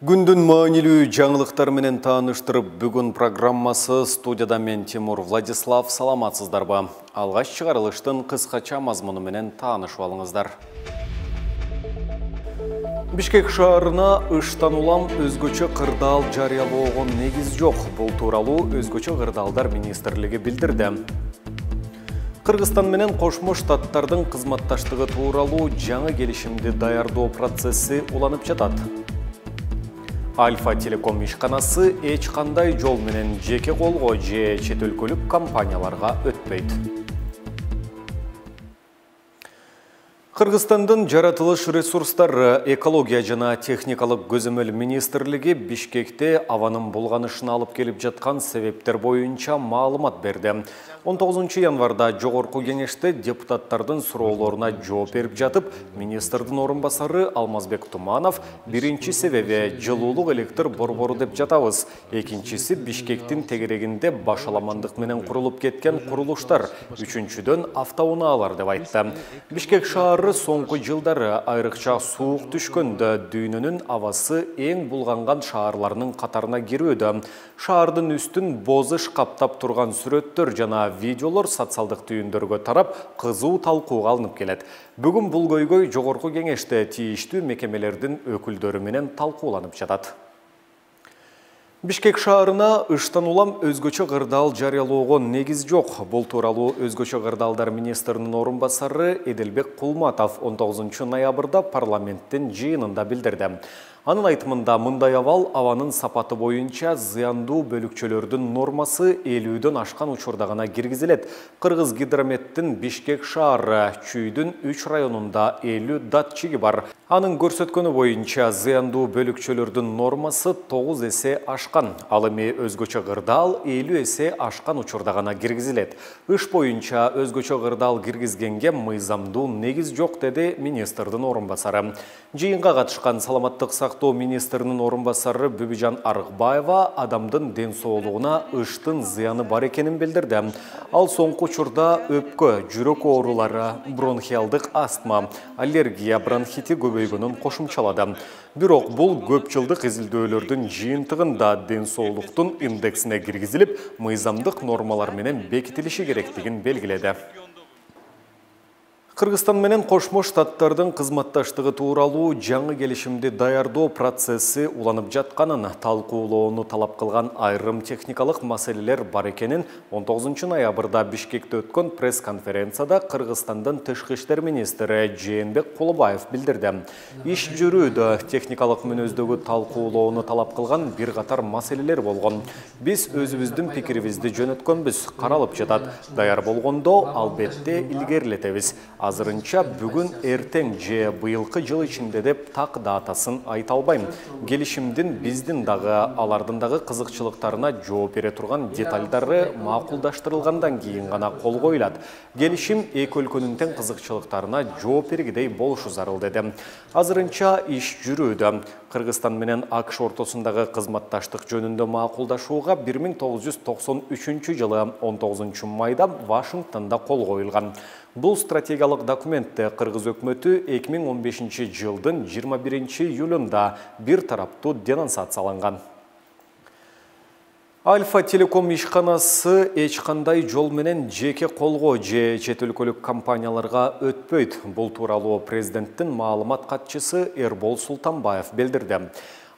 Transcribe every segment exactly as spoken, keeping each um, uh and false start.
Күндүн маанилүү жаңылыктар менен тааныштырып, бүгүн программасы студияда мен Тимур Владислав. Саламатсыздарбы? Алгач чыгарылыштын кыскача мазмуну менен таанышып алыңыздар. Бишкек шаарына ыштан улам өзгөчө кырдаал жарыялоого негиз жок. Бул тууралуу Өзгөчө кырдаалдар министрлиги билдирди. Кыргызстан менен Кошмо Штаттардын кызматташтыгы тууралуу жаңы келишимди даярдоо процесси уланып жатат. Альфа Телеком ишканасы эч кандай жол менен жеке колго же чет өлкөлүк компанияларга өтпөйт. Кыргызстандын жаратылыш ресурстары, экология жана техникалык көзөмөл министрлиги Бишкекте абанын булганышына алып келип жаткан себептер боюнча маалымат берди. он тогузунчу январда жогорку кеңеште депутаттардын суроолоруна жооп берип жатып, министрдин орун басары Алмазбек Туманов биринчи себеби жылуулук электр борбору деп жатабыз. Экинчиси Бишкектин тегерегинде башаламандык менен курулуп кеткен курулуштар. Үчүнчүдөн автоунаалар деп айтты. Бишкек шаары соңку жылдары айрыкча суук түшкөндө дүйнөнүн абасы эң булганган шаарларынын катарына кирүүдө. Шаардын үстүн бозыш каптап турган сүрөттөр жана видеолор социалдык түйүндөргө тарап, кызуу талкууга алынып келет. Бүгүн бул көйгөй жогорку кеңеште тийиштүү мекемелердин өкүлдөрү менен талкууланып жатат. Бишкек шаарына ыштан улам өзгөчө кырдаал жарыялоого негиз жок. Бул тууралуу Өзгөчө кырдаалдар министринин орун басары Эделбек Кулматов он тогузунчу ноябрда парламенттин жыйынында билдирди. Анын айтымында мындай абал абанын сапаты боюнча зыяндуу бөлүкчөлөрдүн нормасы элүүдөн ашкан учурда гана киргизилет. Кыргыз гидрометтин Бишкек шаары Чүйдүн үч районунда элүү датчиги бар. Анын көрсөткөнү боюнча зыяндуу бөлүкчөлөрдүн нормасы тогуз эсе ашкан. Ал эми өзгөчө кырдаал элүү эсе ашкан учурда гана киргизилет. Иш боюнча өзгөчө кырдаал киргизгенге мыйзамдуу негиз жок, деди министрдин орун басары. Жыйынга катышкан саламаттык сактоо министринин орун басары Бүбүжан Арыкбаева адамдын ден соолугуна ыштын зыяны бар экенин билдирди. Ал соңку учурда өпкө, жүрөк оорулары, бронхиалдык астма, аллергия, бронхити көбөйгөнүн кошумчалады. Бирок бул көп жылдык изилдөөлөрдүн жыйынтыгында ден соолуктун индексине киргизилип, мыйзамдык нормалар менен бекитилиши керектигин белгиледи. Кыргызстан менен Кошмо Штаттардын кызматташтыгы тууралуу жаңы келишимди даярдоо процесси уланып жатканын, талкуулоону талап кылган айрым техникалык маселелер бар экенин он тогузунчу ноябрда Бишкекте өткөн пресс-конференцияда Кыргызстандын тышкы иштер министри Жээнбек Кулубаев билдирди. Иш жүрүүдө техникалык мүнөздөгү талкуулоону талап кылган бир катар маселелер болгон. Биз өзүбүздүн пикирибизди жөнөткөнбүз, каралып жатат. Даяр болгондо албетте илгерилетебиз. Азырынча бүгүн эртең же быйылкы жыл ичинде деп так датасын айта албайм. Келишимдин биздин дагы алардын дагы кызыкчылыктарына жооп бере турган деталдары макулдаштырылгандан кийин гана кол коюлат. Келишим эки өлкөнүн тең кызыкчылыктарына жооп бергидей болушу зарыл, деди. Азырынча иш жүрүүдө. Кыргызстан менен АКШ ортосундагы кызматташтык жөнүндө макулдашууга бир миң тогуз жүз токсон үчүнчү жылы он тогузунчу майда Вашингтонда кол коюлган. Бул стратегиялык документте Кыргыз өкмөтү эки миң он бешинчи жылдын жыйырма биринчи июлунда бир тараптуу денонсацияланган. Альфа Телеком ишканасы эч кандай жол менен жеке колго же чет өлкөлүк компанияларга өтпөйт. Бул тууралуу президенттин маалымат катчысы Эрбол Султанбаев билдирди.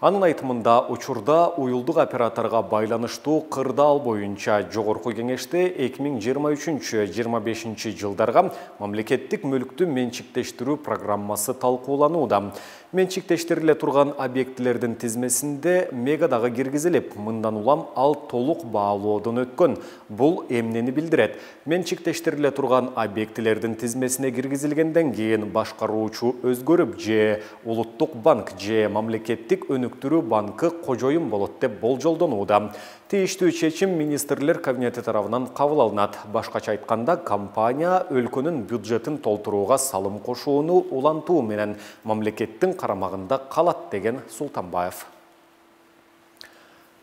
Анын айтымында учурда уюлдук операторго байланыштуу кырдаал боюнча жогорку кеңеште эки миң жыйырма үчүнчү — жыйырма бешинчи жылдарга мамлекеттик мүлктү менчиктештирүү программасы талкууланууда. Менчиктештириле турган объектилердин тизмесинде мега дагы киргизилип, мындан улам ал толук баалоодон өткөн. Бул эмнени билдирет? Менчиктештириле турган объектилердин тизмесине киргизилгенден кийин башкаруучу өзгөрүп же улуттук банк же мамлекеттик өнүктүрүү банкы кожоюн болот деп болжолдонууда. Тийиштүү чечим министрлер кабинети тарабынан кабыл алынат. Башкача айтканда, компания өлкөнүн бюджетин толтурууга салым кошууну улантуу менен мамлекеттин карамагында калат, деген Султанбаев.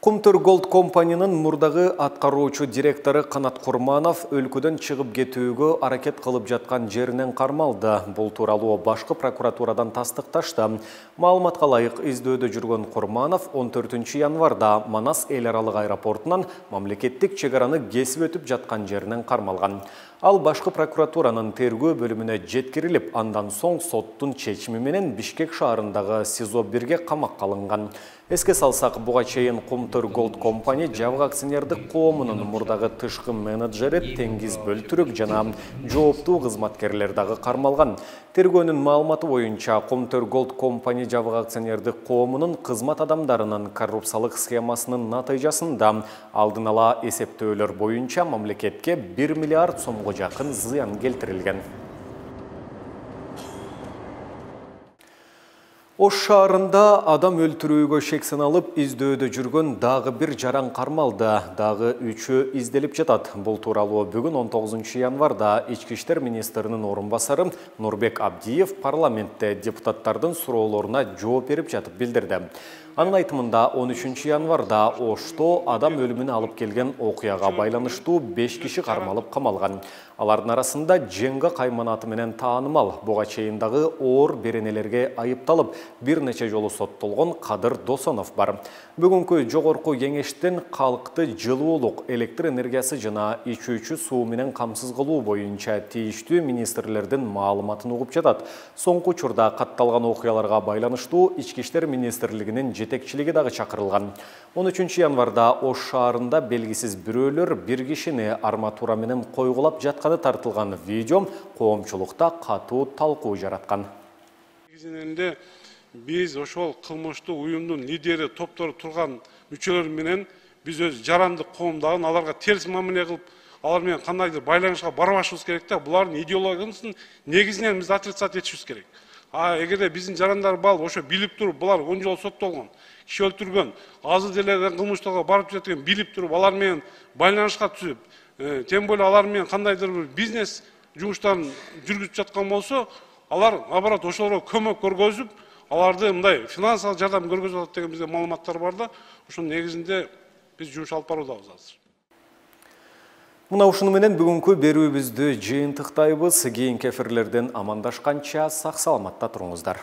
Кумтөр Голд компаниянын мурдагы аткаруучу директору Канат Курманов өлкөдөн чыгып кетүүгө аракет кылып жаткан жеринен кармалды. Бул тууралуу башкы прокуратурадан тастыкташты. Маалыматка ылайык издөөдө жүргөн Курманов он төртүнчү январда Манас эл аралык аэропортунан мамлекеттик чек араны кесип өтүп жаткан жеринен кармалган. Ал башкы прокуратуранын тергөө бөлүмүнө жеткирилип, андан соң соттун чечими менен Бишкек шаарындагы СИЗО бирге камакка алынган. Эске салсак, буга чейин Кумтөр Голд компания жабык акционердик коомунун мурдагы тышкы менеджери Теңиз Бөлтүрүк жана жооптуу кызматкерлер дагы кармалган. Тергөөнүн маалыматы боюнча, Кумтөр Голд компания жабык акционердик коомунун кызмат адамдарынын коррупциялык схемасынын натыйжасында алдын ала эсептөөлөр боюнча мамлекетке бир миллиард сомго жакын зыян келтирилген. Ош шаарында адам өлтүрүүгө шек саналып издөөдө жүргөн дагы бир жаран кармалды. Дагы үчөө изделип жатат. Бул тууралуу бүгүн он тогузунчу январда Ички иштер министринин орун басары Нурбек Абдиев парламентте депутаттардын суроолоруна жооп берип жатып билдирди. Анын айтымында он үчүнчү январда Ошто адам өлүмүнө алып келген окуяга байланыштуу беш киши кармалып камалган. Алардын арасында Женга Кайманаты менен таанымал, буга чейин дагы оор беренелерге айыпталып, бир нече жолу соттолгон Кадыр Досонов бар. Бүгүнкү жогорку кеңештен калкты жылуулук, электр энергиясы жана ичүүчү суу менен камсыз кылуу боюнча тийиштүү министрлердин маалыматын угуп жатат. Соңку учурда катталган окуяларга байланыштуу Ички иштер министрлигинин жетекчилиги дагы чакырылган. он үчүнчү январда Ош шаарында белгисиз бирөөлөр бир кишини арматура менен койгулап жатканы тартылган видео коомчулукта катуу талкуу жараткан. Негизинде биз ошол кылмыштуу уюмдун лидери топтору турган мүчөлөр менен биз өз жарандык коомдагы аларга терс мамиле кылып, алар менен кандайдыр байланышка барбашыбыз керек да. Булардын идеологиясын негизинен биз отрицать этишибиз керек. А эгерде биздин жарандар бал ошо билип туруп, булар он жол соттолгон, киши өлтүргөн, азыр деле кылмыштарга барып жаткан билип туруп, алар менен байланышка түзүп, тем более алар менен кандайдыр бир бизнес жумуштарын жүргүзүп жаткан болсо, алар наоборот ошолорго көмөк көргөзүп, аларды мындай финансылык жардам көргөзүп атат деген бизде маалыматтар бар да. Ошонун негизинде биз жумуш алып баруудабыз азыр. Мына ушуну менен бүгүнкү берүүбүздү жыйынтыктайбыз. Кийинки эфирлерден амандашканча сак саламатта туруңуздар.